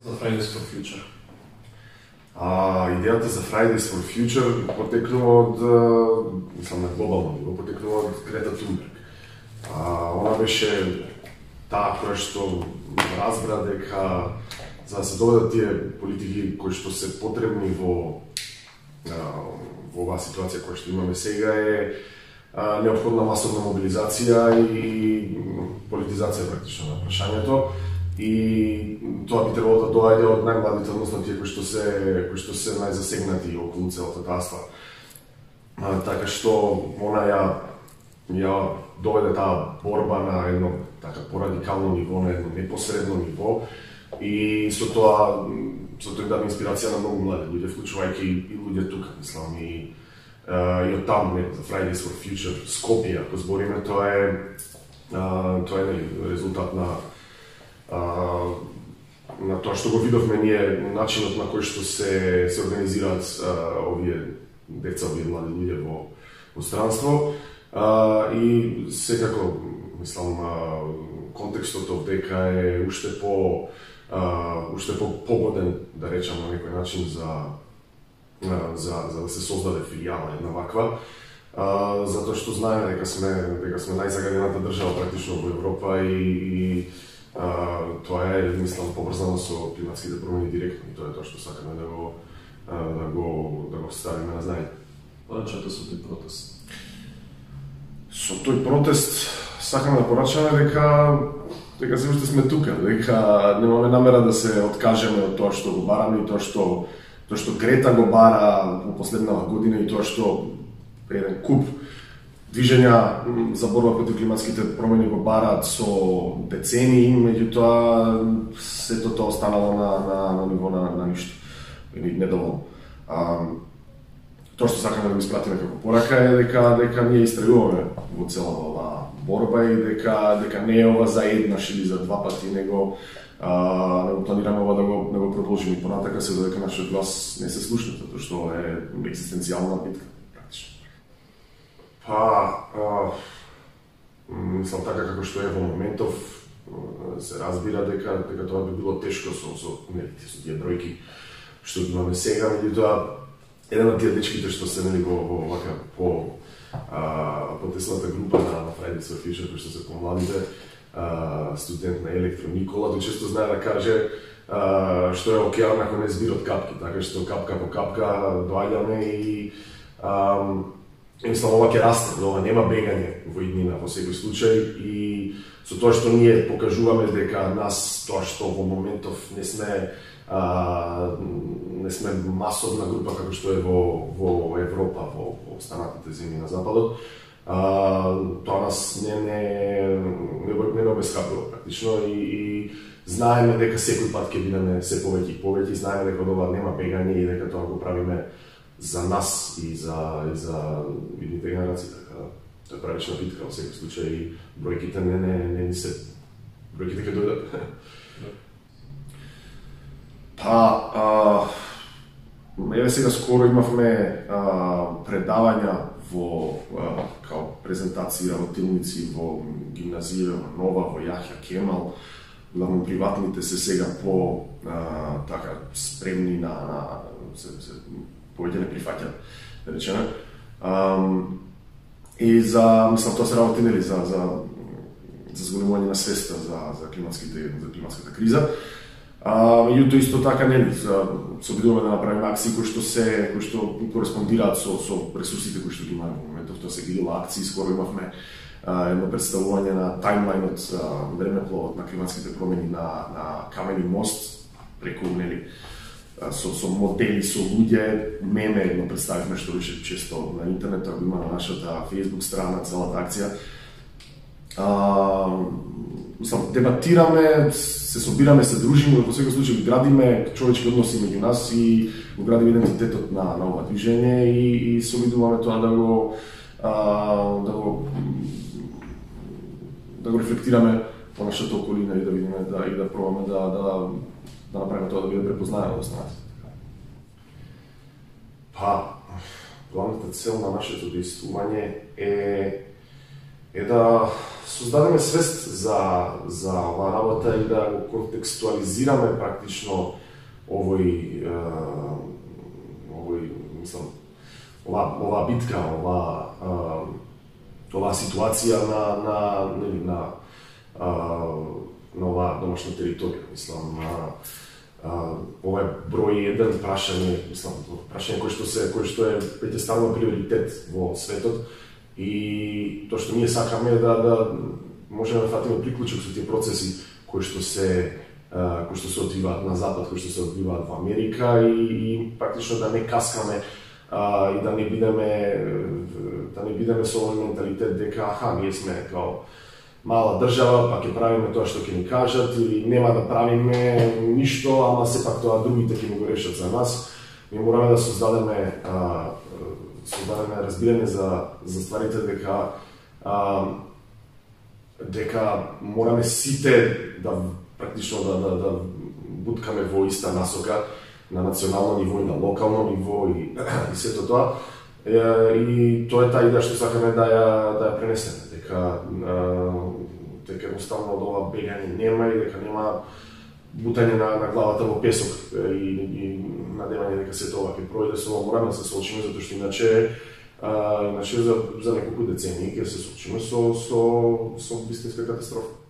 За Fridays for Future? Идејата за Fridays for Future потекнува од, на глобално ниво, потекнува од Грета Тунберг. Она беше таа која што разбра дека за да се доведат тие политики кои што се потребни во оваа ситуација која што имаме сега е неопходна масовна мобилизација и политизација практично на прашањето. И тоа би требало да доаѓа од најмладите, односно тие кои што се најзасегнати околу целата таа ствар. Така што она ја доведе таа борба на едно така порадикално ниво, на едно непосредно ниво и со тоа даде инспирација на многу млади луѓе, вклучувајќи и луѓе тука, мислам, и од таму за Fridays for Future Скопје, ако збориме, тоа е резултат на тоа што го видовме ние, начинот на кој што се организираат овие деца, овие млади луѓе во странство. И секако, мислам, контекстот овдека е уште погоден, да речам на некој начин, за да се создаде филијала една ваква, затоа што знаеме дека сме најзагадената држава практично во Европа и тоа е, мислам, поврзано со климатските промени директно и тоа е тоа што сакаме да го ставиме на знаење. Порачате со тој протест? Со тој протест сакаме да порачаме дека се уште сме тука, дека немаме намера да се откажеме од тоа што го бараме и тоа што Грета го бара во последнава година и тоа што еден куп движења за борба против климатските промени го бараат со децении, меѓутоа сето тоа останало на ниво на ништо или недоволно. Тоа што сакаме да го испратиме како порака е дека ние истрагуваме во целата оваа борба и дека не е ова за еднаш или за два пати, него планираме ова да го продолжиме и понатака, се додека нашиот глас не се слушна, затоа што е екзистенцијална битка практично. Мислам така како што е во моментов, се разбира дека тоа би било тешко со тие бројки што имаме сега, меѓутоа еден од тие дечките што се во вака по тесната група на Fridays for Future, кои што се помладите, студент на Електро Никола, често знае да каже што е океан ако не збир од капки, така што капка по капка доаѓаме и мислам, ова ќе расте, ова нема бегање во иднина во секој случај и со тоа што ние покажуваме дека нас тоа што во моментов не сме масовна група како што е во Европа, во останатите земји на Западот, тоа нас не обесхабрува практично и знаеме дека секој пат ќе бидеме се повеќе и повеќе, знаеме дека од ова нема бегање и дека тоа го правиме за нас и за идните генерации, така тоа е правична битка во секој случај и бројките бројките ќе дојдат. Еве сега скоро имавме предавања во као презентации, работилници во гимназија Нова, во Јахја Кемал, главно приватните се сега по така спремни на повеќе не прифаќаат, да речеме. И мислам, тоа се работи за зголемување на свеста за климатската криза. Меѓутоа исто така се обидуваме да направиме акции кои што кореспондираат со ресурсите кои што ги имаме во моментов. Тоа се грила акции, скоро имавме едно представување на таймлайнот, времепловот на климатските промени на Камени мост, преку со модели, со луѓе, меме едно представивме што беше често на интернет, ако има на нашата Facebook страна целата акција. Дебатираме, се собираме, се дружиме, во секој случај градиме човечки односи меѓу нас и го градиме идентитетот на ова движење и се обидуваме тоа да го рефлектираме по нашата околина и да видиме и да пробаме да направиме тоа да биде препознаено од останатите. Главната цел на нашето действување е да создадеме свест за оваа работа и да го контекстуализираме практично мислам, оваа битка, оваа ситуација на оваа домашна територија. Мислам, ова е број еден прашање, мислам, прашање кој што е веќе станува приоритет во светот и тоа што ние сакаме е да можеме да фатиме приклучок со тие процеси кои што се одвиваат на запад, кои што се одвиваат во Америка и практично да не каскаме и да не бидеме со овој менталитет дека ние сме као мала држава, па ќе правиме тоа што ќе ни кажат или нема да правиме ништо, ама сепак тоа другите ќе ни го решат за нас. Ми мораме да создадеме разбирање за стварите дека мораме сите да практично да буткаме во иста насока на национално ниво и на локално ниво и сето тоа. И тоа е таа идеја што сакаме да ја пренесеме, дека едноставно од ова бегање нема и дека нема бутање на главата во песок и надевање дека сето ова ќе пройде. Со ова мораме да се соочиме, затоа што иначе за неколку децении ќе се соочиме со вистинска катастрофа.